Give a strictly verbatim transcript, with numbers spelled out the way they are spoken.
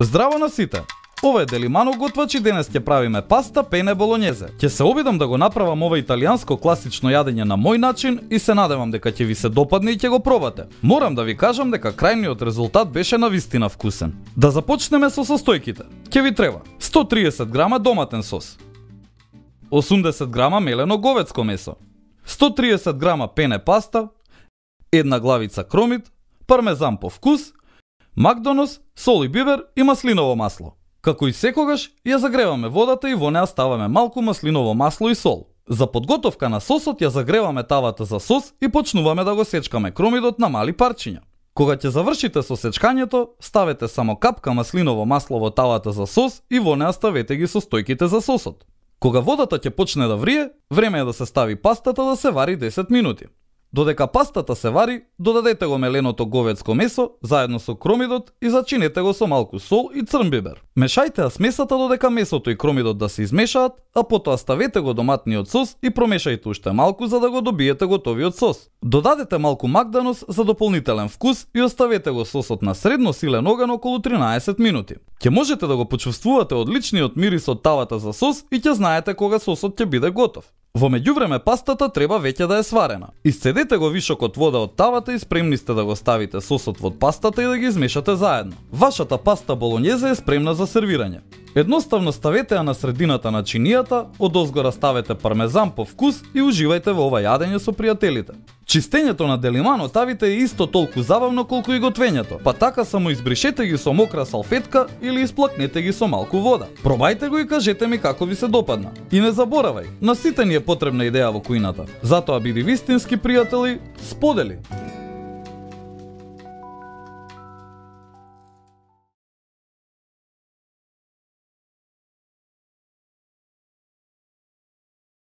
Здраво на сите! Ова е Делимано готвач и денес ќе правиме паста пене болонјезе. Ќе се обидам да го направам ова италијанско класично јадење на мој начин и се надевам дека ќе ви се допадне и ќе го пробате. Морам да ви кажам дека крајниот резултат беше навистина вкусен. Да започнеме со состојките. Ќе ви треба сто триесет грама доматен сос, осумдесет грама мелено говедско месо, сто триесет грама пене паста, една главица кромит, пармезан по вкус, макдонос, сол и бибер и маслиново масло. Како и секогаш, ја загреваме водата и во неа ставаме малку маслиново масло и сол. За подготовка на сосот ја загреваме тавата за сос и почнуваме да го сечкаме кромидот на мали парчиња. Кога ќе завршите со сечкањето, ставете само капка маслиново масло во тавата за сос и во неа ставете ги состојките за сосот. Кога водата ќе почне да врие, време е да се стави пастата да се вари десет минути. Додека пастата се вари, додадете го меленото говедско месо заедно со кромидот и зачинете го со малку сол и црн бибер. Мешајте ја смесата додека месото и кромидот да се измешаат, а потоа ставете го доматниот сос и промешајте уште малку за да го добиете готовиот сос. Додадете малку макдонос за дополнителен вкус и оставете го сосот на средно силен оган околу тринаесет минути. Ќе можете да го почувствувате одличниот мирис од тавата за сос и ќе знаете кога сосот ќе биде готов. Во меѓувреме пастата треба веќе да е сварена. Исцедете го вишокот вода од тавата и спремни сте да го ставите сосот во пастата и да ги измешате заедно. Вашата паста болонјезе е спремна за сервирање. Едноставно ставете ја на средината на чинијата, одозгора ставете пармезан по вкус и уживајте во ова јадење со пријателите. Чистењето на Делимано тавите е исто толку забавно колку и готвењето, па така само избришете ги со мокра салфетка или исплакнете ги со малку вода. Пробајте го и кажете ми како ви се допадна. И не заборавај, на сите ни е потребна идеја во кујната. Затоа биди вистински пријател и сподели!